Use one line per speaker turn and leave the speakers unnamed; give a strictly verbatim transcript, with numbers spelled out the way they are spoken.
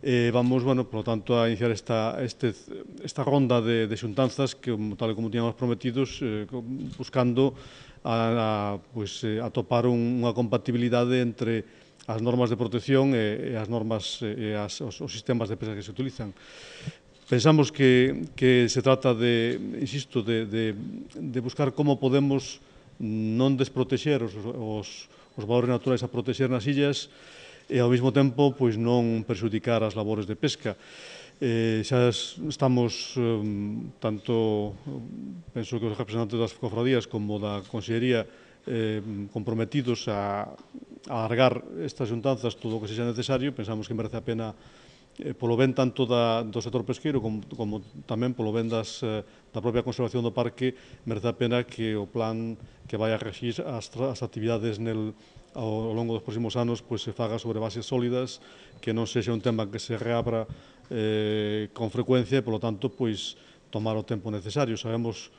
Eh, vamos, bueno, por lo tanto, a iniciar esta, este, esta ronda de, de xuntanzas que, tal e como tiñamos prometidos, eh, buscando a, a, pues, eh, atopar un, unha compatibilidade entre as normas de protección e, e as normas e as, os, os sistemas de pesca que se utilizan. Pensamos que, que se trata de, insisto, de, de, de buscar como podemos non desprotexer os, os, os valores naturais a protexer nas illas e ao mesmo tempo pois non perxudicar as labores de pesca. Eh, xa estamos um, tanto, penso que os representantes das cofradías como da Consellería eh, comprometidos a, a alargar estas xuntanzas todo o que sexa necesario. Pensamos que merece a pena eh, polo ben tanto da, do sector pesqueiro como, como tamén polo ben das, eh, da propia conservación do parque, merece a pena que o plan que vai a regir as, as actividades nel ao longo dos próximos anos pois, se faga sobre bases sólidas, que non sexa un tema que se reabra eh, con frecuencia e, polo tanto, pois, tomar o tempo necesario. Sabemos